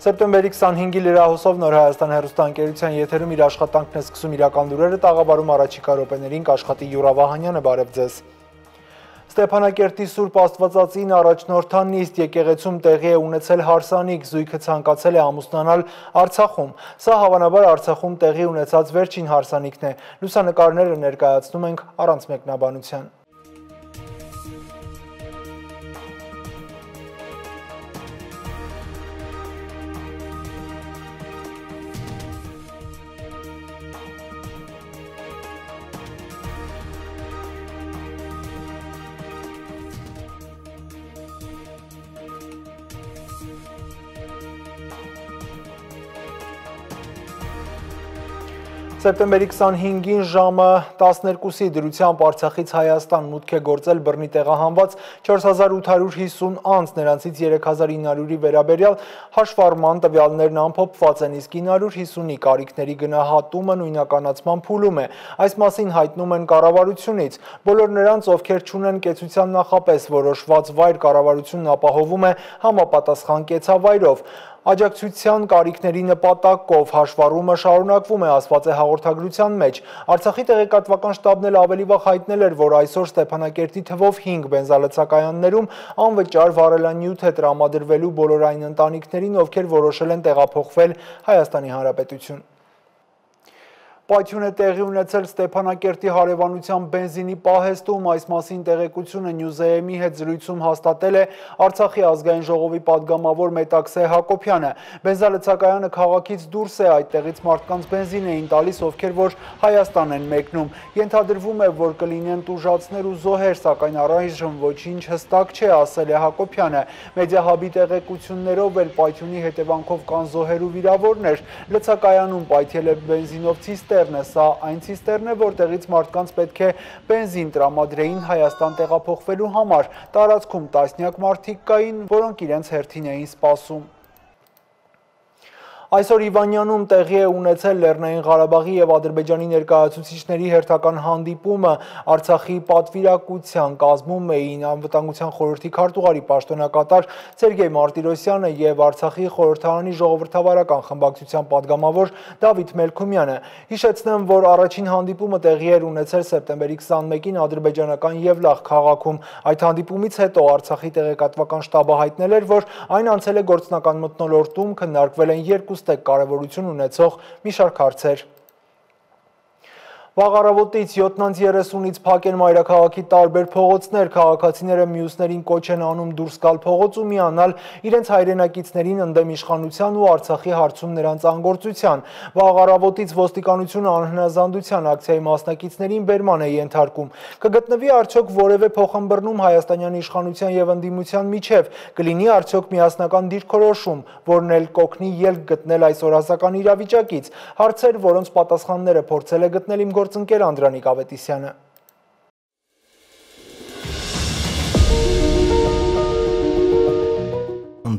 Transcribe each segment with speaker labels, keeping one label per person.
Speaker 1: Սեպտեմբերի 25-ի լրահոսով Նոր Հայաստան հեռուստաընկերության եթերում իր աշխատանքն է սկսում իրական լուրերը տաղավարում առաջիկա րոպեներին կաշխատի Յուրա Վահանյանը, բարև ձեզ։ Ստեփանակերտի Սուրբ Աստվածածին առաջնորդան նիստ եկեղեցում տեղի է ունեցել հարսանիք, զույգը ցանկացել է ամուսնանալ Արցախում։ Սա հավանաբար Արցախում տեղի ունեցած վերջին հարսանիքն է։ Լուսանկարները ներկայացնում ենք առանց մեկնաբանության։ Սեպտեմբերի 25-ին ժամը 12-ի դրությամբ Արցախից Հայաստան մուտք է գործել բռնի տեղահանված 4850 անձ, նրանցից 3900-ի վերաբերյալ հաշվառման տվյալներն ամփոփված են, իսկ 950-ի կարիքների գնահատումը նույնականացման փուլում է։ Այս մասին հայտնում են կառավարությունից։ Բոլոր նրանց, ովքեր չունեն կեցության նախապես որոշված վայր, կառավարությունն ապահովում է համապատասխան կեցավայրով։ Աջակցության կարիքների նպատակով հաշվառումը շարունակվում է, ասված է հաղորդագրության մեջ։ Արցախի տեղեկատվական շտաբն էլ ավելի վաղ հայտնել էր, որ այսօր Ստեփանակերտի թվով 5 բենզալցակայաններում անվճար վառելանյութ է տրամադրվելու բոլոր այն ընտանիքներին, ովքեր որոշել են տեղափոխվել Հայաստանի Հանրապետություն։ Պայթյուն է տեղի ունեցել Ստեփանակերտի հարևանության բենզինի պահեստում, այս մասին տեղեկությունը Նյուզեեմի հետ զրույցում հաստատել է Արցախի ազգային ժողովի падգամավոր Մետաքսե Հակոբյանը։ Բենզալցակայանը քաղաքից դուրս է, այդտեղից մարդկանց բենզին էին տալիս, ովքեր որ Հայաստան են մեկնում։ Ենթադրվում է, որ կլինեն տուժածներ ու զոհեր, սակայն առայժմ ոչինչ հստակ չէ, ասել է Հակոբյանը։ Մեդիահաբի տեղեկություններով էլ պայթյունի հետևանքով կան զոհեր ու վիրավորներ։ Լցակայանում պայթել է բենզինով Սա այն ցիստերն է, որտեղից մարդկանց պետք է բենզին տրամադրեին Հայաստան տեղափոխվելու համար։ Տարածքում տասնյակ մարդիկ կային, որոնք իրենց հերթին էին սպասում։ Այսօր Իվանյանում տեղի է ունեցել Լեռնային Ղարաբաղի և Ադրբեջանի ներկայացուցիչների հերթական հանդիպումը։ Արցախի պատվիրակության կազմում էին Անվտանգության խորհրդի քարտուղարի պաշտոնակատար Սերգեյ Մարտիրոսյանը և Արցախի խորհրդարանի ժողովրդավարական խմբակցության падգամավոր Դավիթ Մելքումյանը։ Հիշեցնեմ, որ առաջին հանդիպումը տեղի էր ունեցել սեպտեմբերի 21-ին ադրբեջանական Եվլախ քաղաքում։ Այդ հանդիպումից հետո Արցախի տեղեկատվական շտաբը հայտնել էր, որ այն անցել է գործնական մթնոլորտում, քննարկվել են երկու կարևորություն ունեցող մի շարք հարցեր։ Վաղ առավոտից 7:30-ից փակ են մայրաքաղաքի տարբեր փողոցներ, քաղաքացիները մյուսներին կոչ են անում դուրս գալ փողոց ու միանալ իրենց հայրենակիցներին ընդդեմ իշխանության ու Արցախի հարցում նրանց անգործության։ Վաղ առավոտից ոստիկանությունը անհնազանդության ակցիայի մասնակիցներին բերման է ենթարկում։ Կգտնվի արդյոք որևէ փոխըմբռնում հայաստանյան իշխանության և ընդդիմության միջև, կլինի արդյոք միասնական դիրքորոշում, որն էլ կօգնի ելք գտնել այս օրասական իրավիճակից։ Հարցեր, որոնց պատասխանները փորձել է գտնել իմ գործընկեր Անդրանիկ Ավետիսյանը։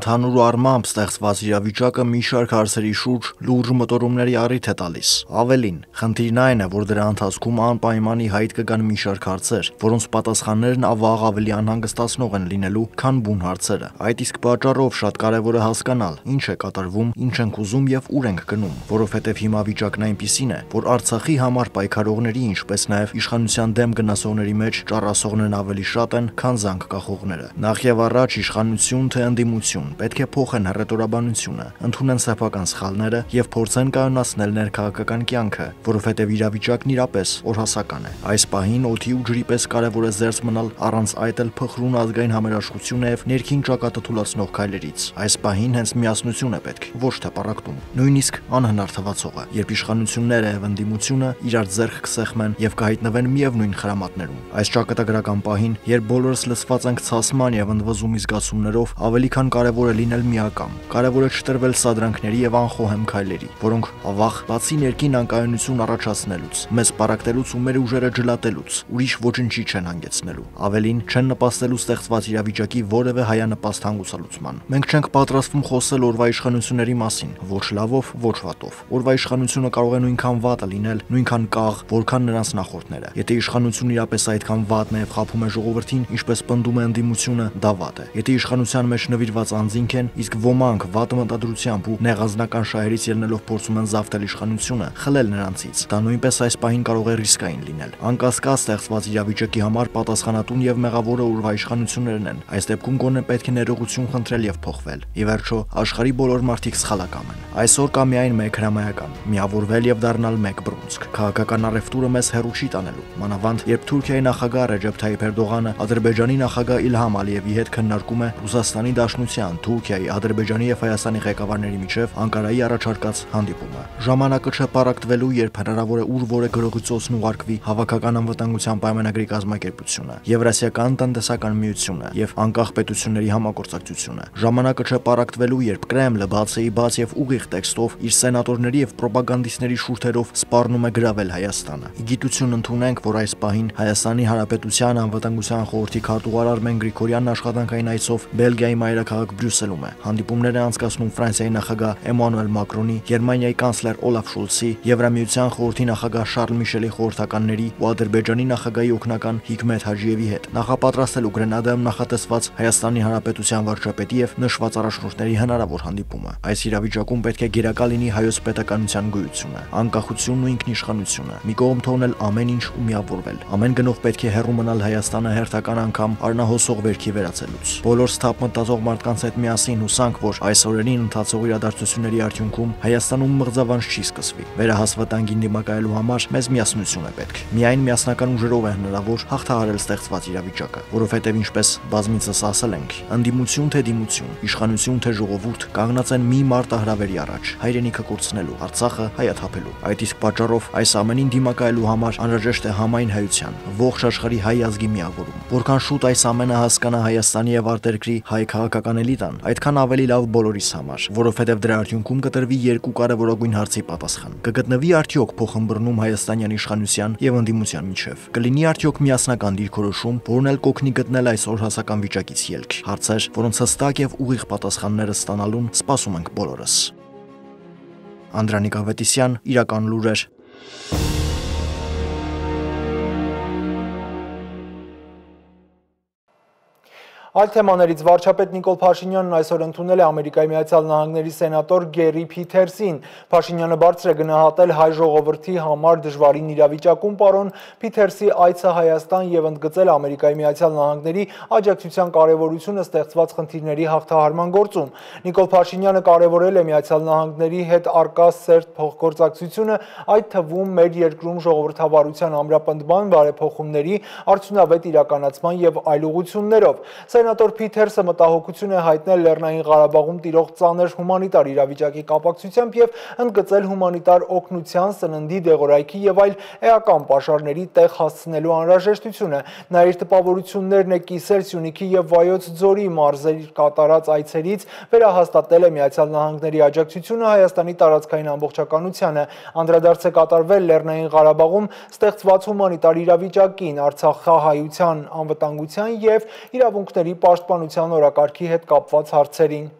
Speaker 2: Ընդհանուր առմամբ ստեղծված իրավիճակը մի շարք հարցերի շուրջ լուրջ մտորումների առիթ է տալիս։ Ավելին, խնդիրն այն է, որ դրա ընթացքում անպայման ի հայտ կգան մի շարք հարցեր, որոնց պատասխաններն ավաղ ավելի անհանգստացնող են լինելու, քան բուն հարցերը։ Այդ իսկ պատճառով շատ կարևոր է հասկանալ, ինչ է կատարվում, ինչ ենք ուզում եւ ուր ենք գնում, որովհետեւ հիմա վիճակն այնպիսին է, որ Արցախի համար պայքարողների, ինչպես նաեւ իշխանության դեմ գնացողների մեջ ճառասողներն ավելի շատ են, քան զանգ կախողները։ Նախ եւ առաջ իշխանություն թե ընդդիմություն պետք է փոխեն հռետորաբանությունը, ընդունեն սեփական սխալները եւ փորձեն կայունացնել ներքաղաքական կյանքը, որովհետեւ իրավիճակն իրապես օրհասական է։ Այս պահին օդի ու ջրի պես կարևոր է զերծ մնալ առանց այդ էլ փխրուն ազգային համերաշխությունը եւ ներքին ճակատը թուլացնող քայլերից։ Այս պահին հենց միասնություն է պետք, ոչ թե պառակտում, նույնիսկ անհնար թվացողը, երբ իշխանությունները եւ ընդդիմությունը իրար ձեռք կսեղմեն եւ կհայտնվեն միևնույն խրամատներում։ Այս ճակատագրական պահին, երբ բոլորս լցված ենք ցասման եւ ընդվզումի զգացումներով, ավելի քան կարևոր է լինել միակամ։ Կարևոր է չտրվել սադրանքների եւ անխոհեմ քայլերի, որոնք ավաղ բացի ներքին անկայունություն առաջացնելուց, մեզ պառակտելուց ու մեր ուժերը ջլատելուց, ուրիշ ոչնչի չեն հանգեցնելու։ Ավելին, չեն նպաստելու ստեղծված իրավիճակի որևէ հայանպաստ հանգուցալուծման։ Մենք չենք պատրաստվում խոսել օրվա իշխանությունների մասին, ոչ լավով, ոչ վատով։ Օրվա իշխանությունը կարող է նույնքան վատը լինել, նույնքան կաղ, որքան նրանց նախորդները։ Եթե իշխանությունը իրապես այդքան վատն է եւ խաբում է ժողովրդին, ինչպես պնդում է ընդդիմությունը, դա վատ է։ Եթե իշխանության մեջ նվիրված անձինք են, իսկ ոմանք վատ մտադրությամբ ու նեղազնական շահերից ելնելով փորձում են զավթել իշխանությունը, խլել նրանցից։ Դա նույնպես այս պահին կարող է ռիսկային լինել։ Անկասկած ստեղծված իրավիճակի համար պատասխանատուն եւ մեղավորը ուրվա իշխանություններն են։ Այս դեպքում գոնե պետք է ներողություն խնդրել եւ փոխվել։ Ի վերջո, աշխարհի բոլոր մարդիկ սխալակամ են։ Այսօր կա միայն մեկ հրամայական՝ միավորվել եւ դառնալ մեկ բռունցք։ Քաղաքական առևտուրը մեզ հեռու չի տանելու։ Մանավանդ, երբ Թուրքիայի նախագահ Ռեջեփ Թայիփ Էրդողանը Ադրբեջանի նախագահ Իլհամ Ալիևի հետ քննարկում է Ռուսաստանի Դաշնության, Թուրքիայի, Ադրբեջանի եւ Հայաստանի ղեկավարների միջև Անկարայի առաջարկած հանդիպումը։ Ժամանակը չէ պարակտվելու, երբ հնարավոր է ուր որը գրողի ծոցն ուղարկվի Հավաքական անվտանգության պայմանագրի կազմակերպությունը, Եվրասիական տնտեսական միությունը եւ անկախ պետությունների համագործակցությունը։ Ժամանակը չէ պարակտվելու, երբ Կրեմլը բացի բաց եւ ուղիղ տեքստով իր սենատորների եւ պրոպագանդիստների շուրթերով սպառնում է գրավել Հայաստանը։ Իգիտություն ընդունենք, որ այս պահին Հայաստանի Հանրապետության անվտանգության խորհրդի քարտուղար Արմեն Գրիգորյանն աշխատանքային այցով Բելգիայի մայրաքաղաք Բրյուսելում է։ Հանդիպումներ է անցկացնում Ֆրանսիայի նախագահ Էմանուել Մակրոնի, Գերմանիայի կանցլեր Օլաֆ Շոլցի, Եվրամիության խորհրդի նախագահ Շարլ Միշելի խորհրդականների ու Ադրբեջանի նախագահի օգնական Հիկմեթ Հաջիևի հետ, նախապատրաստելու Գրենադայում նախատեսված Հայաստանի Հանրապետության վարչապետի եւ նշված առաջնորդների հնարավոր հանդիպումը։ Այս իրավիճակում պետք է գերակա լինի հայոց պետականության գոյությունը, անկախությունն ու ինքնիշխանությունը, մի կողմ թողնել ամեն ինչ ու միավորվել։ Ամեն գնով պետք է հեռու մնալ Հայաստանը հերթական անգամ առնահոսող վերքի վերածելուց։ Բոլոր սթափ մտածող մարդկանց հետ միասին հուսանք, որ այս օրերին ընթացող իրադարձությունների արդյունքում Հայաստանում մղձավանջ չի սկսվի։ Վերահասվտանգին դիմակայելու համար մեզ միասնություն է պետք։ Միայն միասնական ուժերով է հնարավոր հաղթահարել ստեղծված իրավիճակը, որովհետև ինչպես բազմիցս ասել ենք, ընդդիմություն թե դիմություն, իշխանություն թե ժողովուրդ կանգնած են մի մարտահրավերի առաջ՝ հայրենիքը կորցնելու, Արցախը հայաթափելու։ Այդ իսկ պատճառով այս ամենին դիմակայելու համար անհրաժեշտ է համայն հայության, ողջ աշխարհի հայ ազգի միավորում։ Որքան շուտ այս ամենը հասկանա Հայաստանի եւ արտերկրի հայ քաղաքական էլիտան, այդքան ավելի լավ բոլորիս համար, որովհետեւ դրա արդյունքում կտրվի երկու կարևորագույն հարցի պատասխան։ Կգտնվի արդյոք փոխըմբռնում հայաստանյան իշխանության եւ ընդդիմության միջև։ Կլինի արդյոք միասնական դիրքորոշում, որն էլ կօգնի գտնել այս օրհասական վիճակից ելք։ Հարցեր, որոնց հստակ եւ ուղիղ պատասխանները ստանալուն սպասում ենք բոլորս։ Անդրանիկ Ավետիսյան, Իրական լուրեր։
Speaker 1: Այլ թեմաներից վարչապետ Նիկոլ Փաշինյանն այսօր ընդունել է Ամերիկայի Միացյալ Նահանգների սենատոր Գերի Փիթերսին։ Փաշինյանը բարձր է գնահատել հայ ժողովրդի համար դժվարին իրավիճակում պարոն Փիթերսի այցը Հայաստան եւ ընդգծել Ամերիկայի Միացյալ Նահանգների աջակցության կարեւորությունը ստեղծված խնդիրների հաղթահարման գործում։ Նիկոլ Փաշինյանը կարևորել է Միացյալ Նահանգների հետ արկա սերտ փոխգործակցությունը, այդ թվում մեր երկրում ժողովրդավարության ամրապնդման, բարեփոխումների, արդյունավետ իրականացման եւ այլ ուղղություններով։ Սենատոր Փիթերսը մտահոգություն է հայտնել Լեռնային Ղարաբաղում տիրող ծանր հումանիտար իրավիճակի կապակցությամբ եւ ընդգծել հումանիտար օգնության, սննդի, դեղորայքի եւ այլ էական պաշարների տեղ հասցնելու անհրաժեշտությունը։ Նա իր տպավորություններն է կիսել Սյունիքի եւ Վայոց ձորի մարզերի կատարած այցերից, վերահաստատել է Միացյալ Նահանգների աջակցությունը Հայաստանի տարածքային ամբողջականությանը, անդրադարձ է կատարվել Լեռնային Ղարաբաղում ստեղծված հումանիտար իրավիճակին, Արցախահայության անվտանգության եւ իրավունքների պաշտպանության օրակարգի հետ կապված հարցերին։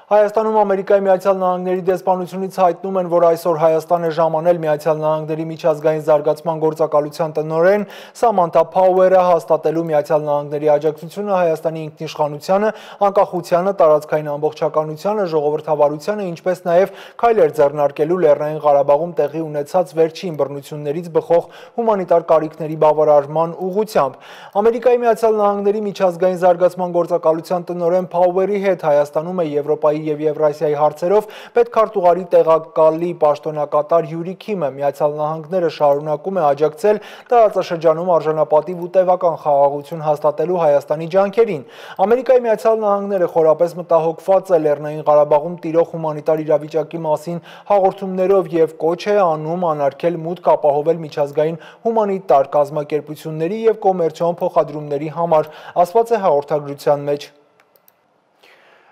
Speaker 1: Հայաստանում Ամերիկայի Միացյալ Նահանգների դեսպանությունից հայտնում են, որ այսօր Հայաստան է ժամանել Միացյալ Նահանգների միջազգային զարգացման գործակալության տնօրեն Սամանթա Փաուերը հաստատելու Միացյալ Նահանգների աջակցությունը Հայաստանի ինքնիշխանությանը, անկախությանը, տարածքային ամբողջականությանը, ժողովրդավարությանը, ինչպես նաև քայլեր ձեռնարկելու Լեռնային Ղարաբաղում տեղի ունեցած վերջին բռնություններից բխող հումանիտար կարիքների բավարարման ուղղությամբ։ Ամերիկայի Միացյալ Նահանգների միջազգային զարգացման գործակալության տնօրեն Փաուերի հետ Հայաստանում է Եվրոպայի եւ Եվրասիայի հարցերով պետքարտուղարի տեղակալի պաշտոնակատար Յուրի Քիմը։ Միացյալ Նահանգները շարունակում է աջակցել տարածաշրջանում արժանապատիվ ու տևական խաղաղություն հաստատելու Հայաստանի ջանքերին։ Ամերիկայի Միացյալ Նահանգները խորապես մտահոգված է Լեռնային Ղարաբաղում տիրող հումանիտար իրավիճակի մասին հաղորդումներով եւ կոչ է անում անարգել մուտք ապահովել միջազգային հումանիտար կազմակերպությունների եւ կոմերցիոն փոխադրումների համար, ասված է հաղորդագրության մեջ։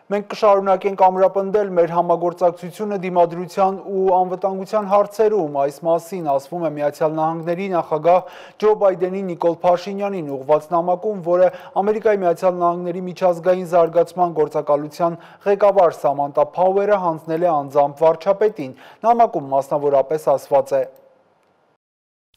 Speaker 1: Մենք կշարունակենք ամրապնդել մեր համագործակցությունը դիմադրության ու անվտանգության հարցերում։ Այս մասին ասվում է Միացյալ Նահանգների նախագահ Ջո Բայդենի Նիկոլ Փաշինյանին ուղղված նամակում, որը Ամերիկայի Միացյալ Նահանգների միջազգային զարգացման գործակալության ղեկավար Սամանթա Փաուերը հանձնել է անձամբ վարչապետին։ Նամակում մասնավորապես ասված է.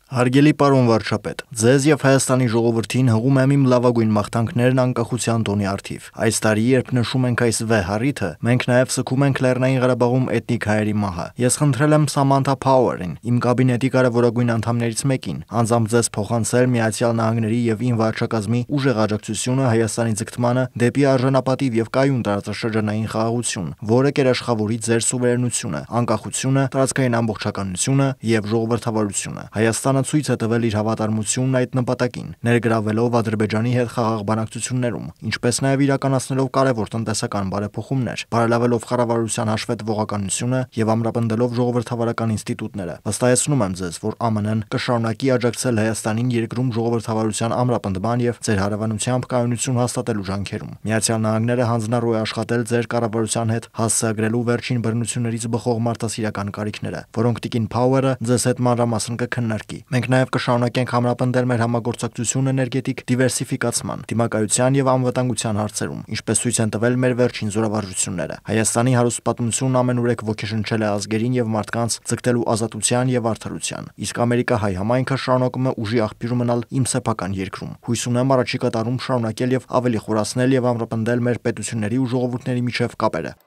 Speaker 2: Հարգելի պարոն վարչապետ, ձեզ եւ Հայաստանի ժողովրդին հղում եմ իմ լավագույն մաղթանքներն անկախության տոնի առթիվ։ Այս տարի, երբ նշում ենք այս վեհ առիթը, մենք նաեւ սգում ենք Լեռնային Ղարաբաղում էթնիկ հայերի մահը։ Ես խնդրել եմ Սամանթա Փաուերին, իմ կաբինետի կարևորագույն անդամներից մեկին, անձամբ ձեզ փոխանցել Միացյալ Նահանգների եւ ին վարչակազմի ուժեղ աջակցությունը Հայաստանի ձգտմանը դեպի արժանապատիվ եւ կայուն տարածաշրջանային խաղաղություն, որը կերաշխավորի ձեր սուվերենությունը, անկախությունը, տարածքային ամբողջականությունը եւ ժողովրդավարությունը։ Հայաստանը ցույց է տվել իր հավատարմությունն այդ նպատակին, ներգրավելով Ադրբեջանի հետ խաղաղ բանակցություններում, ինչպես նաև իրականացնելով կարևոր տնտեսական բարեփոխումներ, բարելավելով կառավարության հաշվետվողականությունը եւ ամրապնդելով ժողովրդավարական ինստիտուտները։ Վստահեցնում եմ ձեզ, որ ԱՄՆ-ն կշարունակի աջակցել Հայաստանին երկրում ժողովրդավարության ամրապնդման եւ ձեր հարևանությամբ կայունություն հաստատելու ջանքերում։ Միացյալ Նահանգները հանձնառու է աշխատել ձեր կառավարության հետ հասցեագրելու վերջին բռնություններից բխող մարդասիրական կարիքները, որոնք տիկին Փաուերը ձեզ հետ մանրամասն կքննարկի։ Մենք նաև կշարունակենք համապնդել մեր համագործակցությունը էներգետիկ դիվերսիֆիկացման, դիմակայության եւ անվտանգության հարցերում, ինչպես ցույց են տվել մեր վերջին զորավարժությունները։ Հայաստանի հարուստ պատմությունն ամենուրեք ոգեշնչել է ազգերին եւ մարդկանց ձգտելու ազատության եւ արդարության։ Իսկ ամերիկա-հայ համայնքը շարունակում է ուժի աղբյուր մնալ իմ սեփական երկրում։ Հույս ունեմ առաջիկա տարում շարունակել եւ ավելի խորացնել եւ ամրապնդել մեր պետությունների ու ժողովուրդների միջև կապերը։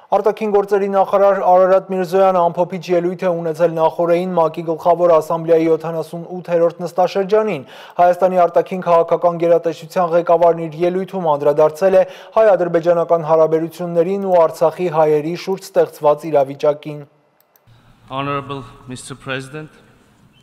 Speaker 1: Արտաքին գործերի նախարար Արարատ Միրզոյանը ամփոփիչ ելույթ է ունեցել նախորդին ՄԱԿ-ի գլխավոր ասամբլեայի 78-րդ նստաշրջանին։ Հայաստանի արտաքին քաղաքական գերատեսչության ղեկավարն իր ելույթում անդրադարձել է հայ-ադրբեջանական հարաբերություններին ու Արցախի հայերի շուրջ ստեղծված իրավիճակին։
Speaker 3: Honorable Mr. President,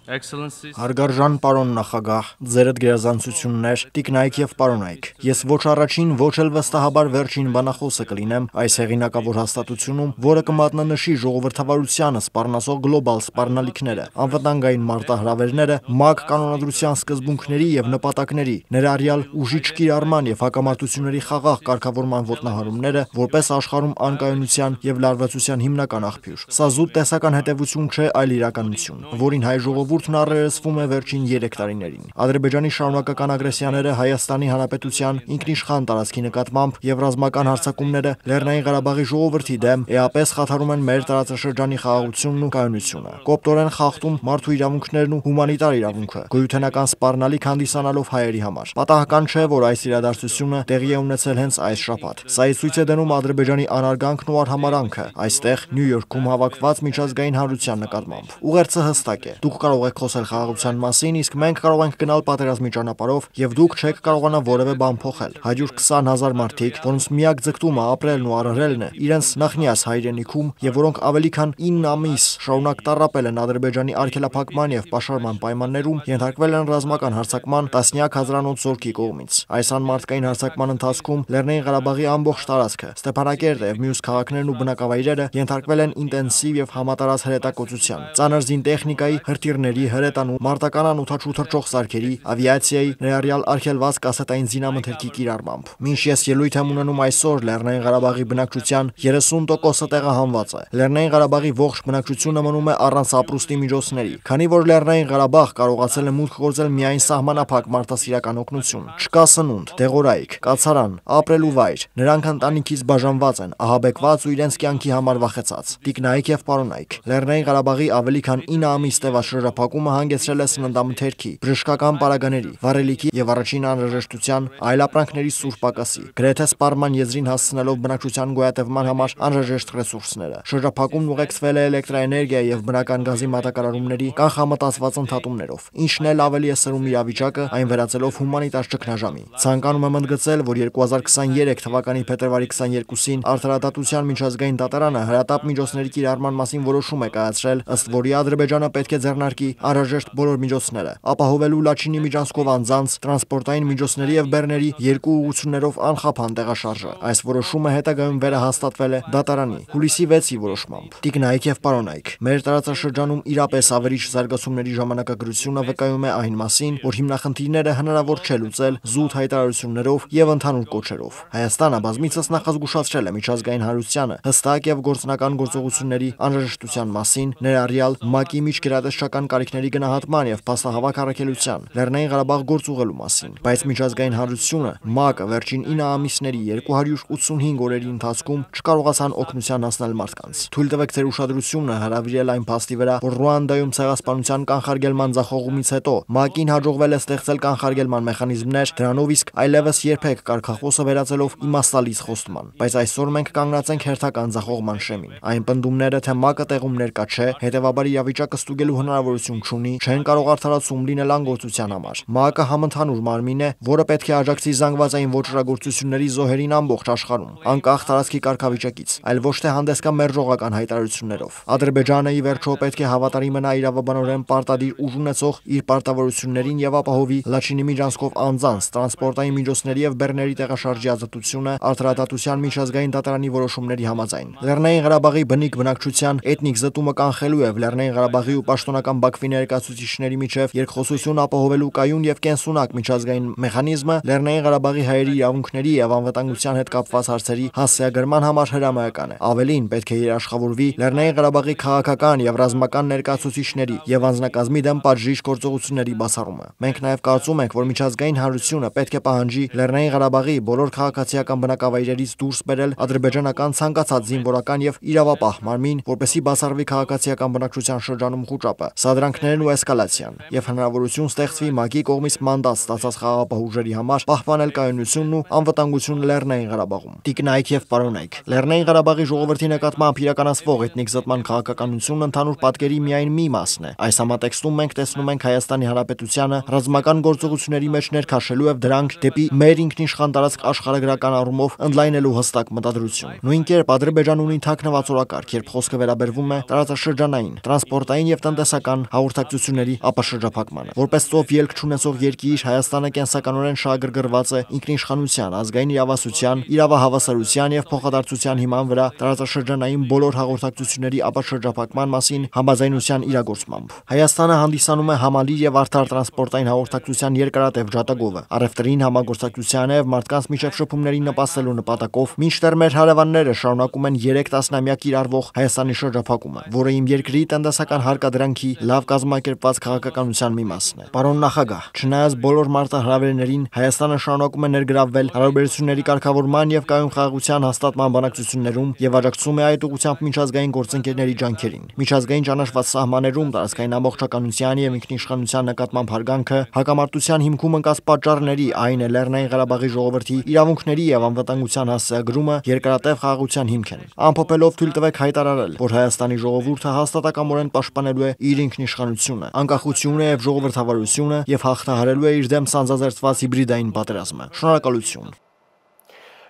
Speaker 3: Excellencies,
Speaker 2: Հարգարժան պարոն նախագահ, ձերդ գերազանցություններ, տիկնայք եւ պարոնայք։ Ես ոչ առաջին, ոչ էլ վստահաբար վերջին բանախոսը կլինեմ այս հեղինակավոր հաստատությունում, որը կմատնանշի ժողովրդավարությանը սպառնասող գլոբալ սպառնալիքները, անվտանգային մարտահրավերները, ՄԱԿ կանոնադրության սկզբունքների եւ նպատակների, ներառյալ ուժի չկիրառման եւ հակամարտությունների խաղաղ կարգավորման ոտնահարումները, որպես աշխարհում անկայունության եւ լարվածության հիմնական աղբյուր։ Սա զուտ տեսական հետևություն չէ, այլ իրականություն, որին հայ ժողովուրդն առերեսվում է վերջին 3 տարիներին։ Ադրբեջանի շարունակական ագրեսիաները Հայաստանի Հանրապետության ինքնիշխան տարածքի նկատմամբ եւ ռազմական հարձակումները Լեռնային Ղարաբաղի ժողովրդի դեմ էապես խաթարում են մեր տարածաշրջանի խաղաղությունն ու կայունությունը, կոպտորեն խախտում մարդու իրավունքներն ու հումանիտար իրավունքը, գոյութենական սպառնալիք հանդիսանալով հայերի համար։ Պատահական չէ, որ այս իրադարձությունը տեղի է ունեցել հենց այս շաբաթ։ Սա ցույց է դնում Ադրբեջանի անարգանքն ու արհամարանքը այստեղ Նյու Յորքում հավաքված միջազգային հանրության նկատմամբ։ Ուղերձը հստակ է։ Դուք կարող եք խոսել խաղաղության մասին, իսկ մենք կարող ենք գնալ պատերազմի ճանապարհով, եւ դուք չեք կարողանա որևէ բան փոխել։ 120,000 մարդիկ, որոնց միակ ձգտումը ապրելն ու արարելն է, իրենց նախնիաս հայրենիքում, եւ որոնք ավելի քան 9 ամիս շարունակ տառապել են Ադրբեջանի արգելափակման եւ պաշարման պայմաններում, ենթարկվել են ռազմական հարձակման տասնյակ հազարանոց զորքի կողմից։ Այս անմարդկային հարձակման ընթացքում Լեռնային Ղարաբաղի ամբողջ տարածքը, Ստեփանակերտը եւ մյուս քաղաքներն ու բնակավայրերը ենթարկվել են ինտենսիվ եւ համատարած հրետակոծության, ծանր զինտեխնիկայի, հրթիռների, հրետանու, մարտական անօդաչու թռչող սարքերի, ավիացիայի, ներառյալ արգելված կասետային զինամթերքի կիրառմամբ։ Մինչ ես ելույթ եմ ունենում այսօր Լեռնային Ղարաբաղի բնակչության 30%-ը տեղահանված է։ Լեռնային Ղարաբաղի ողջ բնակչությունը մնում է առանց ապրուստի միջոցների, քանի որ Լեռնային Ղարաբաղ կարողացել է մուտք գործել միայն սահմանափակ մարդասիրական օգնություն։ Չկա սնունդ, դեղորայք, կացարան, ապրելու վայր։ Նրանք ընտանիքից բաժանված են, ահաբեկված ու իրենց կյանքի համար վախեցած։ Տիկնայք եւ պարոնայք, Լեռնային Ղարաբաղի ավելի քան 9 ամիս շրջափակումը հանգեցրել է սննդամթերքի, բժշկական պարագաների, վառելիքի եւ առաջին անհրաժեշտության այլ ապրանքների սուր պակասի, գրեթե սպառման եզրին հասցնելով բնակչության գոյատևման համար անհրաժեշտ ռեսուրսները։ Շրջափակումն ուղեկցվել է էլեկտրաէներգիա եւ բնական գազի մատակարարումների կանխամտածված ընդհատումներով, ինչն էլ ավելի է սրում իրավիճակը, այն վերածելով հումանիտար ճգնաժամի։ Ցանկանում եմ ընդգծել, որ 2023 թվականի փետրվարի 22-ին Արդարադատության միջազգային դատարանը հրատապ միջոցների կիրառման մասին որոշում է կայացրել, ըստ որի Ադրբեջանը պետք է ձեռնարկի անհրաժեշտ բոլոր միջոցները, ապահովելու Լաչինի միջանցքով անձանց, տրանսպորտային միջոցների եւ բեռների երկու ուղղություններով անխափան տեղաշարժը։ Այս որոշումը հետագայում վերահաստատվել է դատարանի հուլիսի 6-ի որոշմամբ։ Տիկնայք եւ պարոնայք, մեր տարածաշրջանում իրապես ավերիչ զարգացումների ժամանակագրությունը վկայում է այն մասին, որ հիմնախնդիրները հնարավոր չէ լուծել զուտ հայտարարություններով եւ ընդհանուր կոչերով։ Հայաստանը բազմիցս նախազգուշացրել է միջազգային հանրությանը հստակ եւ գործնական գործողությունների անհրաժեշտության մասին, ներառյալ ՄԱԿ-ի միջգերատեսչական կարիքների գնահատման եւ փաստահավաք առաքելության, Լեռնային Ղարաբաղ գործուղելու մասին, բայց միջազգային հանրությունը ՄԱԿ-ը վերջին 9 ամիսների 285 օրերի ընթացքում չկարողացան օգնության հասնել մարդկանց։ Թույլ տվեք ձեր ուշադրությունը հրավիրել այն փաստի վրա, որ Ռուանդայում ցեղասպանության կանխարգելման ձախողումից հետո ՄԱԿ-ին հաջողվել է ստեղծել կանխարգելման մեխանիզմներ, դրանով իսկ այլևս երբեք կարգախոսը վերածելով իմաստալից խոստման։ Բայց այսօր մենք կանգնած ենք հերթական ձախողման շեմին։ Այն պնդումները, թե ՄԱԿ-ը տեղում ներկա չէ, հետևաբար իրավիճակը ստուգելու հնարավորություն չունի, չեն կարող արդարացում լինել անգործության համար։ ՄԱԿ-ը համընդհանուր մարմին է, որը պետք է աջակցի զանգվածային ոճրագործությունների զոհերին ամբողջ աշխարհում, անկախ տարածքի կարգավիճակից, այլ ոչ թե հանդես գա մերժողական հայտարարություններով։ Ադրբեջանը ի վերջո պետք է հավատարիմ մնա իրավաբանորեն պարտադիր ուժ ունեցող իր պարտավորություններին եւ ապահովի Լաչինի միջանցքով անձանց, տրանսպորտային միջոցների եւ բեռների տեղաշարժի ազատությունը արդարադատության միջազգային դատարանի որոշումների համաձայն։ Լեռնային Ղարաբաղի բնիկ բնակչության էթնիկ զտումը կանխելու եւ Լեռնային Ղարաբաղի ու պաշտոնական Բաքվի ներկայացուցիչների միջև երկխոսություն ապահովելու կայուն եւ կենսունակ միջազգային մեխանիզմը Լեռնային Ղարաբաղի հայերի իրավունքների եւ անվտանգության հետ կապված հարցերի հասցեագրման համար հրամայական է։ Ավելին, պետք է երաշխավորվի Լեռնային Ղարաբաղի քաղաքական եւ ռազմական ներկայացուցիչների եւ անձնակազմի դեմ պատժիչ գործողությունների բացառումը։ Մենք նաեւ կարծում ենք, որ միջազգային հանրությունը պետք է պահանջի Լեռնային Ղարաբաղի բոլոր քաղաքացիական բնակավայրերից դուրս բերել ադրբեջանական ցանկացած զինվորական եւ իրավապահ մարմին, որպեսզի բացառվի քաղաքացիական բնակչության շրջանում խուճապը, սադրանքներն ու էսկալացիան, եւ հնարավորություն ստեղծվի ՄԱԿ-ի կողմից մանդատ ստացած խաղաղապահ ուժերի համար պահպանել կայունությունն ու անվտանգությունը Լեռնային Ղարաբաղում։ Տիկնայք եւ պարոնայք, Լեռնային Ղարաբաղի ժողովրդի նկատմամբ իրականացվող էթնիկ զտման քաղաքականությունն ընդհանուր պատկերի միայն մի մասն է։ Այս համատեքստում մենք տեսնում ենք Հայաստանի Հանրապետությանը ռազմական գործողությունների մեջ ներքաշելու եւ դրանք դեպի մեր ինքնիշխան տարածք աշխարհագրական առումով ընդլայնելու հստակ մտադրություն։ Նույն կերպ Ադրբեջանն ունի թաքնված օրակարգ, երբ խոսքը վերաբերվում է տարածաշրջանային, տրանսպորտային եւ տնտեսական հաղորդակցությունների ապաշրջափակմանը։ Որպես ծով ելք չունեցող երկիր, Հայաստանը կենսականորեն շահագրգռված է ինքնիշխանության, ազգային իրավասության, իրավահավասարության եւ փոխադարձության հիման վրա տարածաշրջանային բոլոր հաղորդակցությունների ապաշրջափակման մասին համաձայնության իրագործմամբ։ Հայաստանը հանդիսանում է համալիր եւ արդար տրանսպորտային հաղորդակցության երկարատև ջատագովը, առևտրին, համագործակցությանը եւ մարդկանց միջև շփումներին նպաստելու նպատակով, մինչդեռ մեր հարևանները շարունակում են 3 տասնամյակ կիրառվող Հայաստանի շրջափակումը, որը իմ երկրի տնտեսական հարկադրանքի լավ կազմակերպված քաղաքականության մի մասն է։ Պարոն նախագահ, չնայած բոլոր մարտահրավերներին, Հայաստանը շարունակում է ներգրավվել հարաբերությունների կարգավորման եւ կայուն խաղաղության հաստատման բանակցություններում եւ աջակցում է այդ ուղղությամբ միջազգային գործընկերների ջանքերին։ Միջազգային ճանաչված սահմաններում տարածքային ամբողջականության եւ ինքնիշխանության նկատմամբ հարգանքը հակամարտության հիմքում ընկած պատճառների, այն է Լեռնային Ղարաբաղի ժողովրդի իրավունքների եւ անվտանգության հասցեագրումը երկարատև խաղաղության հիմք են։ Ամփոփելով թույլ տվեք հայտարարել, որ Հայաստանի ժողովուրդը հաստատակամորեն պաշտպանելու է իր ինքնիշխանությունը, անկախությունը եւ ժողովրդավարությունը եւ հաղթահարելու է իր դեմ սանձազերծված հիբրիդային պատերազմը։ Շնորհակալություն։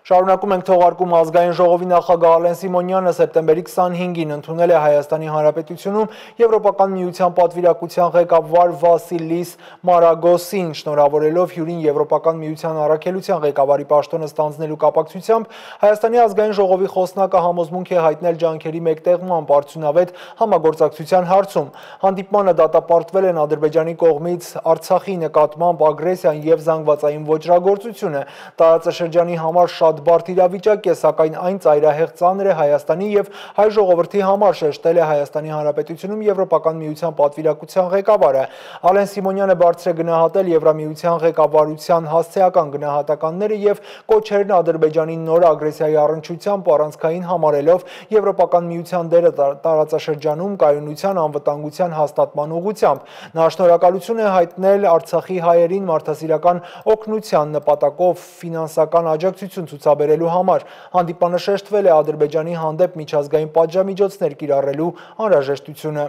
Speaker 1: Շարունակում ենք թողարկում ազգային ժողովի նախագահ Ալեն Սիմոնյանը սեպտեմբերի 25-ին ընդունել է Հայաստանի Հանրապետությունում Եվրոպական միության պատվիրակության ղեկավար Վասիլիս Մարագոսին, շնորհավորելով հյուրին Եվրոպական միության առաքելության ղեկավարի պաշտոնը ստանձնելու կապակցությամբ Հայաստանի ազգային ժողովի խոսնակը համոզմունք է հայտնել ջանքերի մեկտեղման արդյունավետ համագործակցության հարցում։ Հանդիպմանը դատապարտվել են Ադրբեջանի կողմից Արցախի նկատմամբ ագրեսիան եւ զանգվածային ոճրագործությունը։ Տարածաշրջանի համար շատ բարդ իրավիճակ է, սակայն այն ծայրահեղ ծանր է Հայաստանի եւ հայ ժողովրդի համար, շեշտել է Հայաստանի Հանրապետությունում Եվրոպական միության պատվիրակության ղեկավարը։ Ալեն Սիմոնյանը բարձր է գնահատել Եվրամիության ղեկավարության հասցեական գնահատականները եւ կոչերն Ադրբեջանի նոր ագրեսիայի առնչությամբ առանցքային համարելով Եվրոպական միության դերը տարածաշրջանում կայունության, անվտանգության հաստատման ուղղությամբ։ Նա շնորհակալություն է հայտնել Արցախի հայերին մարդասիրական օգնության նպատակով ֆինանսական աջակցություն ցուցաբերելու համար։ Հանդիպանը շեշտվել է Ադրբեջանի հանդեպ միջազգային պատժամիջոցներ կիրառելու անհրաժեշտությունը։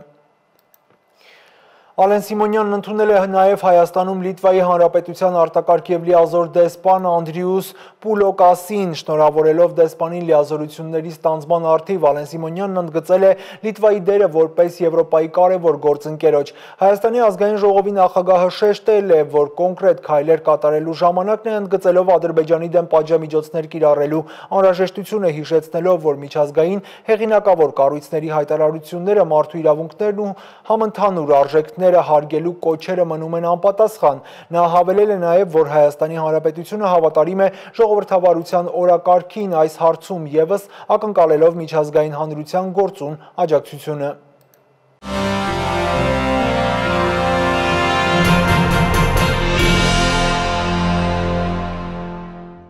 Speaker 1: Ալեն Սիմոնյանն ընդունել է նաև Հայաստանում Լիտվայի Հանրապետության արտակարգ և լիազոր դեսպան Անդրիուս Պուլոկասին, շնորհավորելով դեսպանին լիազորությունների ստանձնման առթիվ, Ալեն Սիմոնյանն ընդգծել է Լիտվայի դերը որպես Եվրոպայի կարևոր գործընկերոջ։ Հայաստանի ազգային ժողովի նախագահը շեշտել է, որ կոնկրետ քայլեր կատարելու ժամանակն է, ընդգծելով Ադրբեջանի դեմ պատժամիջոցներ կիրառելու անհրաժեշտությունը, հիշեցնելով, որ միջազգային հեղինակավոր կառույցների հայտարարությունները, մարդու իրավունքներն ու համընդհանուր արժեքները հարգելու կոչերը մնում են անպատասխան։ Նա հավելել է նաև, որ Հայաստանի Հանրապետությունը հավատարիմ է ժողովրդավարության օրակարգին, այս հարցում ևս ակնկալելով միջազգային հանրության գործուն աջակցությունը։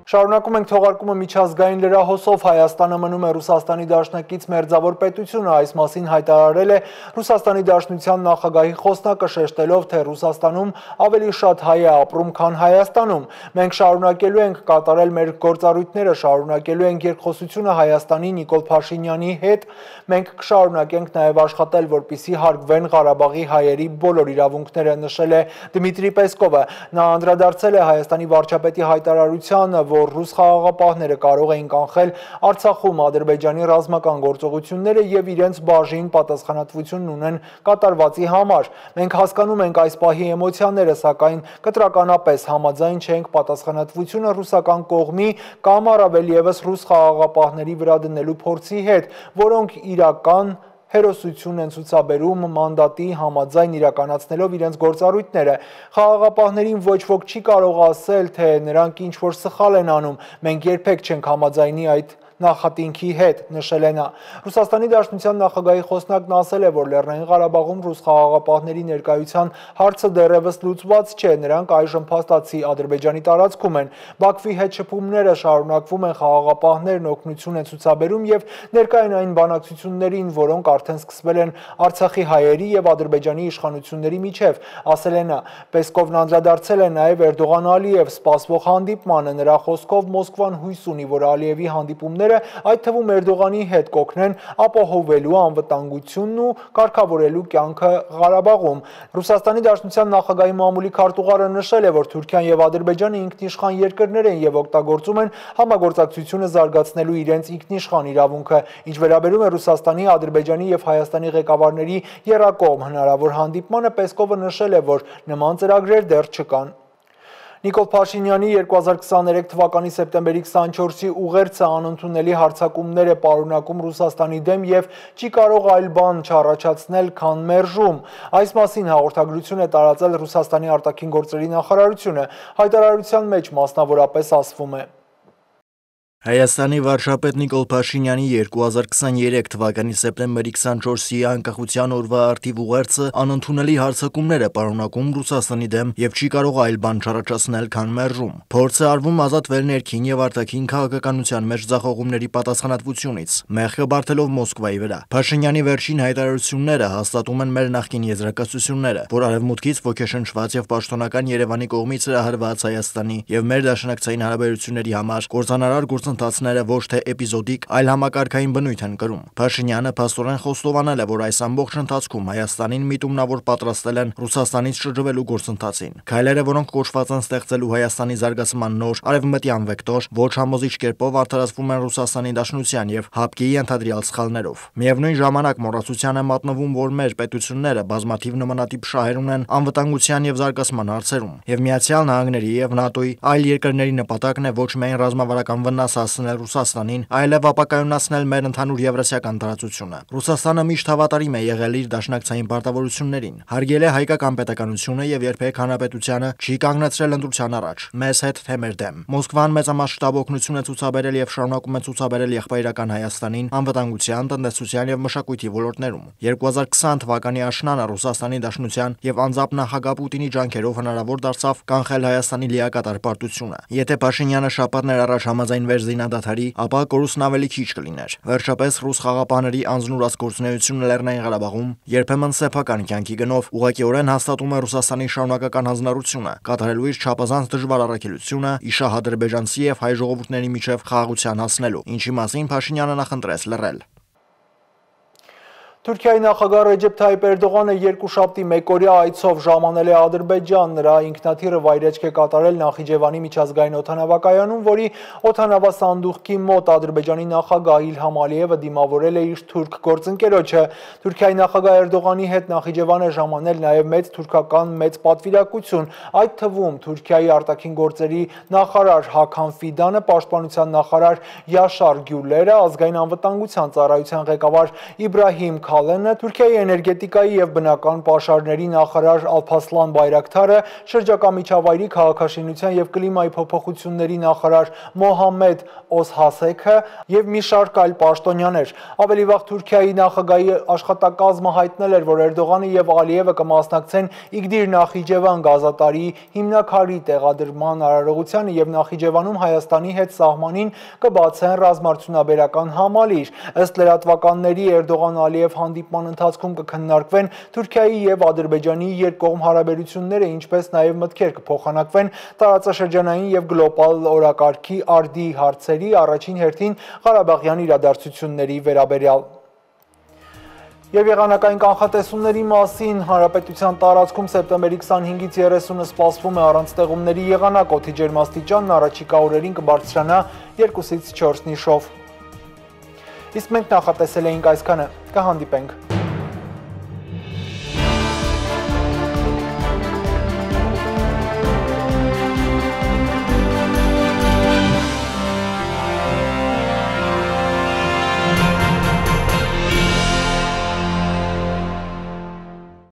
Speaker 1: Շարունակում ենք թողարկումը միջազգային լրահոսով Հայաստանը մնում է Ռուսաստանի Դաշնակից մերձավոր պետությունը, այս մասին հայտարարել է Ռուսաստանի Դաշնության նախագահի խոսնակը շեշտելով, թե Ռուսաստանում ավելի շատ հայ է ապրում, քան Հայաստանում։ Մենք շարունակելու ենք կատարել մեր գործառույթները, շարունակելու ենք երկխոսությունը Հայաստանի Նիկոլ Փաշինյանի հետ, մենք կշարունակենք նաև աշխատել, որպեսզի հարգվեն Ղարաբաղի հայերի բոլոր իրավունքները, նշել է Դմիտրի Պեսկովը։ Նա անդրադարձել է Հայաստանի վարչապետի հայտարարությանը, որ ռուս խաղաղապահները կարող էին կանխել Արցախում Ադրբեջանի ռազմական գործողությունները եւ իրենց բաժին պատասխանատվություն ունեն կատարվածի համար։ Մենք հասկանում ենք այս պահի էմոցիաները, սակայն կտրականապես համաձայն չենք պատասխանատվությունը ռուսական կողմի կամ առավել եւս ռուս խաղաղապահների վրա դնելու փորձի հետ, որոնք իրական հերոսություն են ցուցաբերում մանդատի համաձայն իրականացնելով իրենց գործառույթները։ Խաղաղապահներին ոչ ոք չի կարող ասել, թե նրանք ինչ-որ սխալ են անում։ Մենք երբեք չենք համաձայնի այդ նախատինքի հետ, նշել է նա։ Ռուսաստանի Դաշնության նախագահի խոսնակն ասել է, որ Լեռնային Ղարաբաղում ռուս խաղաղապահների ներկայության հարցը դեռևս լուծված չէ, նրանք այժմ փաստացի Ադրբեջանի տարածքում են։ Բաքվի հետ շփումները շարունակվում են, խաղաղապահներն օգնություն են ցուցաբերում եւ ներկա են այն բանակցություններին, որոնք արդեն սկսվել են Արցախի հայերի եւ Ադրբեջանի իշխանությունների միջև, ասել է նա։ Պեսկովն անդրադարձել է նաեւ Էրդողան-Ալիև սպասվող հանդիպմանը, նրա խոսքով Մոսկվան հույս ունի, որ Ալիևի հանդիպումները այդ թվում Էրդողանի հետ կօգնեն ապահովելու անվտանգությունն ու կարգավորելու կյանքը Ղարաբաղում։ Ռուսաստանի Դաշնության նախագահի մամուլի քարտուղարը նշել է, որ Թուրքիան եւ Ադրբեջանը ինքնիշխան երկրներ են եւ օգտագործում են համագործակցությունը զարգացնելու իրենց ինքնիշխան իրավունքը։ Ինչ վերաբերում է Ռուսաստանի, Ադրբեջանի եւ Հայաստանի ղեկավարների եռակողմ հնարավոր հանդիպմանը, Պեսկովը նշել է, որ նման ծրագրեր դեռ չկան։ Նիկոլ Փաշինյանի 2023 թվականի սեպտեմբերի 24-ի ուղերձը անընդունելի հարձակումներ է պարունակում Ռուսաստանի դեմ եւ չի կարող այլ բան չառաջացնել, քան մերժում։ Այս մասին հաղորդագրություն է տարածել Ռուսաստանի արտաքին գործերի նախարարությունը։ Հայտարարության մեջ մասնավորապես ասվում է.
Speaker 2: Հայաստանի վարչապետ Նիկոլ Փաշինյանի 2023 թվականի սեպտեմբերի 24-ի անկախության օրվա արդիվ ուղերձը անընդունելի հարձակումներ է պարունակում Ռուսաստանի դեմ եւ չի կարող այլ բան չառաջացնել, քան մերժում։ Փորձը արվում ազատվել ներքին եւ արտաքին քաղաքականության մեջ ձախողումների պատասխանատվությունից, մեղքը բարթելով Մոսկվայի վրա։ Փաշինյանի վերջին հայտարարությունները հաստատում են մեր նախկին եզրակացությունները, որ արևմուտքից ոգեշնչված եւ պաշտոնական Երևանի կողմից հրահրված Հայաստանի եւ մեր դաշնակցային հարաբերությունների համար կործանարար գործընթացները ոչ թե էպիզոդիկ, այլ համակարգային բնույթ են կրում։ Փաշինյանը փաստորեն խոստովանել է, որ այս ամբողջ ընթացքում Հայաստանին միտումնավոր պատրաստել են Ռուսաստանից շրջվելու գործընթացին։ Քայլերը, որոնք կոչված են ստեղծելու Հայաստանի զարգացման նոր արևմտյան վեկտոր, ոչ համոզիչ կերպով արդարացվում են Ռուսաստանի Դաշնության եւ ՀԱՊԿ-ի ենթադրյալ սխալներով։ Միևնույն ժամանակ մոռացության է մատնվում, որ մեր պետությունները բազմաթիվ նմանատիպ շահեր ունեն անվտանգության եւ զարգացման հարցերում, եւ Միացյալ Նահանգների եւ ՆԱՏՕ-ի այլ երկրների նպատակն է ոչ միայն ռազմավարական վնաս հասցնել Ռուսաստանին, այլև ապակայունացնել մեր ընդհանուր եվրասիական տարածությունը։ Ռուսաստանը միշտ հավատարիմ է եղել իր դաշնակցային պարտավորություններին, հարգել է հայկական պետականությունը եւ երբեք հանրապետությանը չի կանգնեցրել ընտրության առաջ, մեզ հետ թե մեր դեմ։ Մոսկվան մեծամասշտաբ օգնություն է ցուցաբերել եւ շարունակում է ցուցաբերել եղբայրական Հայաստանին անվտանգության, տնտեսության եւ մշակույթի ոլորտներում։ 2020 թվականի աշնանը Ռուսաստանի Դաշնության եւ անձամբ նախագահ Պուտինի ջանքերով հնարավոր դարձավ կանխել Հայաստանի լիակատար պարտությունը։ Եթե Փաշինյանը շաբաթներ առաջ համաձայնվեր զինադադարի, ապա կորուստն ավելի քիչ կլիներ։ Վերջապես ռուս խաղապահների անձնուրաց գործունեությունը Լեռնային Ղարաբաղում երբեմն սեփական կյանքի գնով ուղղակիորեն հաստատում է Ռուսաստանի շարունակական հանձնառությունը, կատարելու իր չափազանց դժվար առաքելությունը իշահ ադրբեջանցի եւ հայ ժողովուրդների միջև խաղաղության հասնելու, ինչի մասին Փաշինյանը նախընտրեց լռել։
Speaker 1: Թուրքիայի նախագահ Ռեջեփ Թայիփ Էրդողանը երկուշաբթի մեկօրյա այցով ժամանել է Ադրբեջան, նրա ինքնաթիռը վայրեջք է կատարել Նախիջևանի միջազգային օդանավակայանում, որի օդանավասանդուղքի մոտ Ադրբեջանի նախագահ Իլհամ Ալիևը դիմավորել է իր թուրք գործընկերոջը։ Թուրքիայի նախագահ Էրդողանի հետ Նախիջևան է ժամանել նաև մեծ թուրքական մեծ պատվիրակություն, այդ թվում Թուրքիայի արտաքին գործերի նախարար Հաքան Ֆիդանը, պաշտպանության նախարար Յաշար Գյուլերը, ազգային անվտանգության ծառայության ղեկավար Իբրահիմ Հալենը, Թուրքիայի էներգետիկայի եւ բնական պաշարների նախարար Ալփասլան Բայրակթարը, շրջակա միջավայրի քաղաքաշինության եւ կլիմայի փոփոխությունների նախարար Մոհամմեդ Օսհասեքը եւ մի շարք այլ պաշտոնյաներ։ Ավելի վաղ Թուրքիայի նախագահի աշխատակազմը հայտնել էր, որ Էրդողանը եւ Ալիևը կմասնակցեն Իգդիր Նախիջևան գազատարի հիմնաքարի տեղադրման արարողությանը եւ Նախիջևանում Հայաստանի հետ սահմանին կբացեն ռազմարդյունաբերական համալիր։ Ըստ լրատվականների Էրդողան-Ալիև հանդիպման ընթացքում կքննարկվեն Թուրքիայի եւ Ադրբեջանի երկկողմ հարաբերությունները, ինչպես նաեւ մտքեր կփոխանակվեն տարածաշրջանային եւ գլոբալ օրակարգի արդի հարցերի, առաջին հերթին Ղարաբաղյան իրադարձությունների վերաբերյալ։ Եվ եղանակային կանխատեսումների մասին հանրապետության տարածքում սեպտեմբերի 25-ից 30-ը սպասվում է առանց ստեղումների եղանակ, օդի ջերմաստիճանն առաջիկա օրերին կբարձրանա 2-ից 4 նիշով։ Իսկ մենք նախատեսել էինք այսքանը, կհանդիպենք։